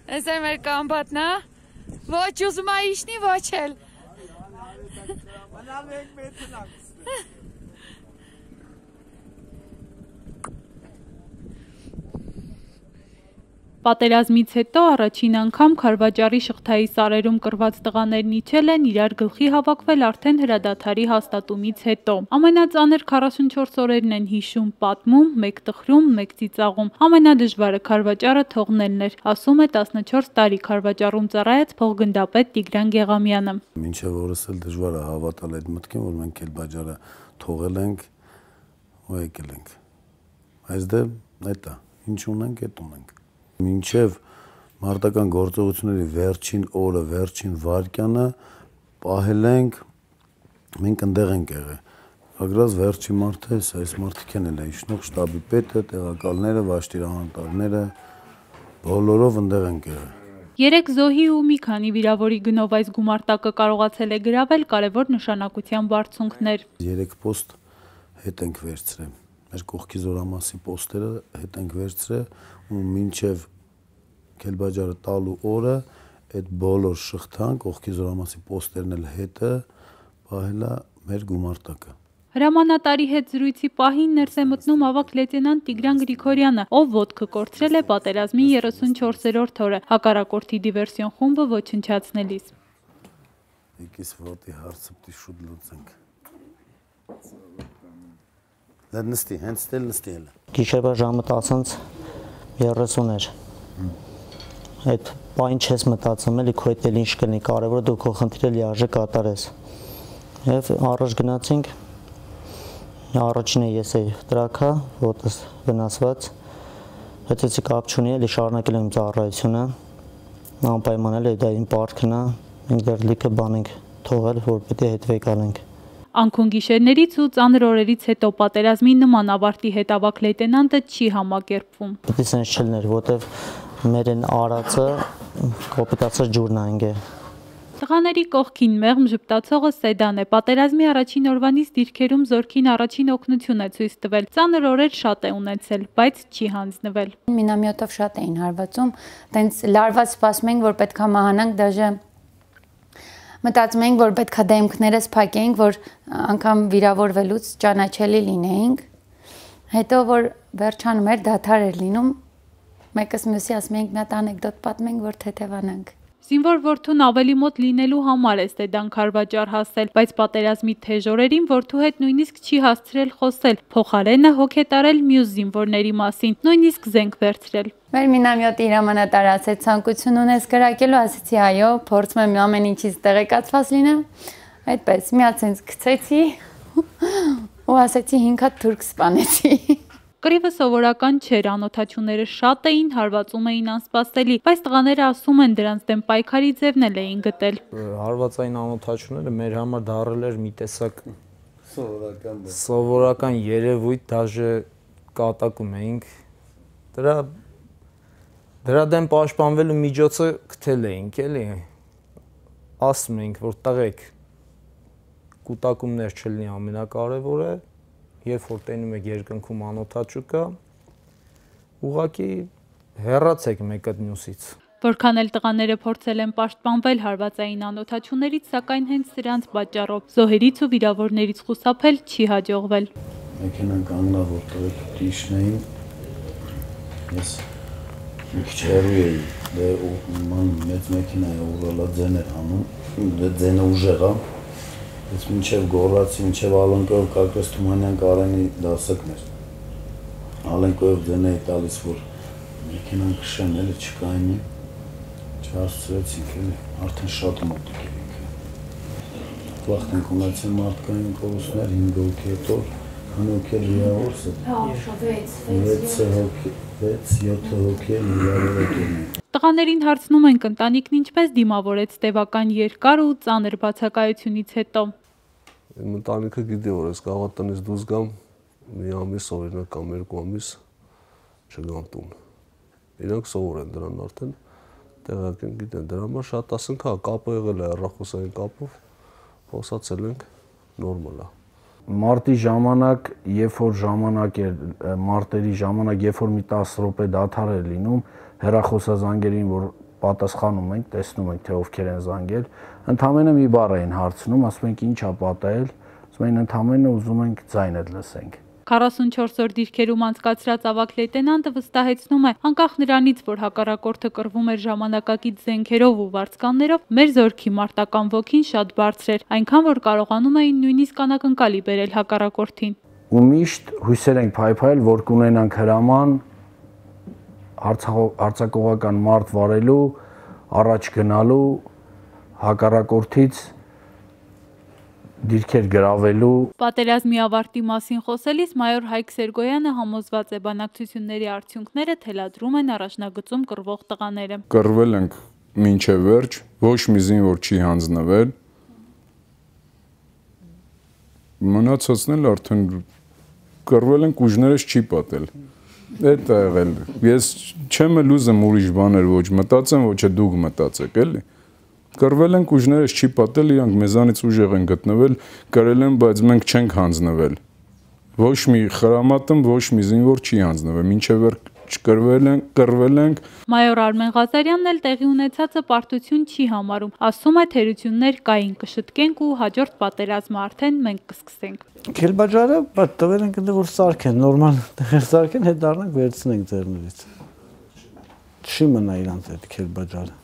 Այս է մեր կամբատնա, ոչ ուզում ա իշնի, ոչ էլ։ Պատերազմից հետո առաջին անգամ Քարվաճառի Շղթայի սարերում կռված տղաներն իջել են իրար գլխի հավաքվել արդեն հրադադարի հաստատումից հետո։ Ամենածանր 44 օրերն են հիշում, պատմում, մեկ տխրում, մեկ ծիծաղում։ Ամենադժվարը Քարվաճառը թողնելն էր, ասում է 14 տարի Քարվաճառում ծառայած փոխգնդապետ Տիգրան Գեղամյանը։ Մինչև օրս էլ դժվար է հավատալ այդ մտքին, որ մենք Քարվաճառը թողել ենք ու եկել ենք։ Այս դե այդ է, ինչ ունենք, այդ ունենք։ Մինչև մարտական գործողությունների վերջին օրը, վերջին վայրկյանը պահել ենք, մենք ընդեղ ենք եղել։ Ագրած վերջի մարդը, այս մարդիկն էլ է իշխնող շտաբի պետը, տեղակալները, վաշտիրանատարները, բոլորով ընդեղ ենք եղել։ 3 զոհի ու մի քանի վիրավորի գնով այս գումարտակը կարողացել է գրավել կարևոր նշանակության բարձունքներ։ 3 պոստ հետ ենք վերցրել։ Մեր կողքի զորամասի պոստերը հետ ենք վերցրել ու մինչև Քարվաճառը տալու օրը այդ բոլոր շղթան կողքի զորամասի պոստերն էլ հետը պահելա մեր գումարտակը։ Հրամանատարի հետ զրույցի պահին ներս է մտնում ավագ լեյտենանտ Տիգրան Գրիգորյանը, ով ոտքը կորցրել է պատերազմի 34-րդ օրը հակառակորդի դիվերսիոն խումբը ոչնչացնելիս։ Եկես ոտի հարցը պիտի շուտ լուծենք։ Դա նստի, հենց դել նստի էլ։ Գիշերվա ժամը 10:30 էր։ Այդ բան չես մտածում էլի քո հետ էլ ինչ կլինի, կարևորը դու քո խնդիրը լիարժեք կատարես։ Եվ առաջ գնացինք, առաջինը ես էի տրակա, ոտս վնասված, հետեցի կապ չունի, էլի շարունակել եմ ծառայությունը, անպայման էլի դա իմ պարտքն է, մենք դեռ լիքը բան ենք թողել, որ պետք է հետվեք անենք։ Անքուն գիշերներից ու ծանր օրերից հետո պատերազմի նման ավարտի հետ ավագ լեյտենանտը չի համակերպվում։ Պետք է սենց չլներ, որտեվ մեր են արածը կոպիտացած ջուրն այնգ է։ Տղաների կողքին մեղմ ժպտացողը Սեդան է։ Պատերազմի առաջին օրվանից դիրքերում զորքին առաջին օգնություն է ցույց տվել։ Ծանր օրեր շատ է ունեցել, բայց չի հանձնվել։ Մինամյոտով շատ էին հարվածում, տենց լարված սպասում ենք, որ պետքա մահանանք, դաժե մտածում ենք, որ պետքա դեմքներս փակենք, որ անգամ վիրավորվելուց ճանաչելի լինեինք։ Հետո որ վերջանում էր, դադար էր լինում, մեկս մյուսի ասում ենք մի հատ անեկդոտ պատմենք, որ թեթևանանք։ Զինվոր որդուն ավելի մոտ լինելու համար է Սեդան Քարվաճառ հասել, բայց պատերազմի թեժ օրերին որդու հետ նույնիսկ չի հասցրել խոսել, փոխարենը հոգ է տարել մյուս զինվորների մասին, նույնիսկ զենք վերցրել։ Մեր մինամյոտի հրամանատար ասեց, ցանկություն ունես կրակելու, ասեցի այո, փորձում եմ ամեն ինչից տեղեկացված լինեմ, այդպես մի հատ sense գցեցի ու ասեցի 5 հատ թուրք սպանեցի։ Կռիվը սովորական չէր, անօթաչուները շատ էին, հարվածում էին անսպասելի, բայց տղաները ասում են դրանց դեմ պայքարի ձևն էլ էին գտել։ Հարվածային անօթաչուները մեր համար դառել էր մի տեսակ սովորական երևույթ, դաժե կատակում էինք։ Դրա դեմ պաշտպանվելու միջոցը գտել էինք, էլի։ Ասում էինք, որ տղեկ կուտակումներ չլինի ամենակարևորը, երբ որ տենում եք երկնքում անօթաչու կա, ուղղակի հեռացեք մեկը մյուսից։ Որքան էլ տղաները փորձել են պաշտպանվել հարվածային անօթաչուներից, սակայն հենց սրանց պատճառով զոհերից ու վիրավորներից խուսափել չի հաջողվել։ Մեքենան կանգնա, որտեղ դիշնեին, ես մի քիչ հեռու էի, դե մեծ մեքենա է ուղղալա ձեն էր անում, դե ձենը ուժեղ է։ Ես մինչև գոռացի, մինչև Ալենկոյով Կարկոս Թումանյան Կարենի դասակներ։ Ալենկոյով ձեն էի տալիս, որ մեքենան քշեն, էլի չկայնի, չհասցրեցինք, էլի, արդեն շատ մոտիկ էինք։ Վաղտ ենք ունեցել մարդկային կորուստներ, 5 հոգի հետո, քանի հոգի էլ վիրավորս է։ 6-7 հոգի էլ վիրավորել են։ Տղաներին հարցնում ենք ընտանիքն ինչպես դիմավորեց տևական երկար ու ծանր բացակայությունից հետո։ Ընտանիքը գիտի, որ ես կարող տնից դուրս գամ, մի ամիս օրինակ կամ 2 ամիս չգամ տուն։ Իրանք սովոր են դրան արդեն, տեղակ են գիտեն, դրա համար շատ ասենք, հա, կապը եղել է հեռախոսային կապով, խոսացել ենք, նորմալ է։ Մարտի ժամանակ, երբ որ ժամանակ էր, մարտերի ժամանակ, երբ որ մի 10 րոպե դադար էր լինում, հեռախոսազանգերին, որ պատասխանում ենք, տեսնում ենք, թե ովքեր են զանգել, ընդամենը մի բառ էին հարցնում, ասում ենք ինչ ա պատահել, ասում են ընդամենը ուզում ենք ձայնդ լսենք։ 44 օր դիրքերում անցկացրած ավագ լեյտենանտը վստահեցնում է, անկախ նրանից, որ հակառակորդը կռվում էր ժամանակակից զենքերով ու վարձկաններով, մեր զորքի մարտական ոգին շատ բարձր էր, այնքան որ կարողանում էին նույնիսկ անակնկալի բերել հակառակորդին։ Ու միշտ հույսեր ենք փայփայել, որ կունենանք հրաման արձակողական մարտ վարելու, առաջ գնալու, հակառակորդից դիրքեր գրավելու։ Պատերազմի ավարտի մասին խոսելիս մայոր Հայկ Սերգոյանը համոզված է, բանակցությունների արդյունքները թելադրում են առաջնագծում կռվող տղաները։ Կռվել ենք մինչև վերջ, ոչ մի զինվոր չի հանձնվել։ Մնացածն էլ արդեն կռվել ենք, ուժներս չի պատել։ Այդ է եղել։ Ես չեմ էլ ուզում ուրիշ բաներ ոչ մտածեմ, ոչ է դուք մտածեք, էլի։ Կռվել ենք, ուժներս չի պատել, իրանք մեզանից ուժեղ են գտնվել, կրել են, բայց մենք չենք հանձնվել։ Ոչ մի խրամատում, ոչ մի զինվոր չի հանձնվել, մինչև կռվել ենք։ Մայոր Արմեն Ղազարյանն էլ տեղի ունեցածը պարտություն չի համարում, ասում է թերություններ կային, կշտկենք ու հաջորդ պատերազմը արդեն մենք կսկսենք։ Քելբաջարը բայց տվել ենք ընդ որ սարքեն, նորմալ տեղեր սարքեն, հետ դառնանք վերցնենք ձեռներից։ Չի մնա իրանց այդ քելբաջարը։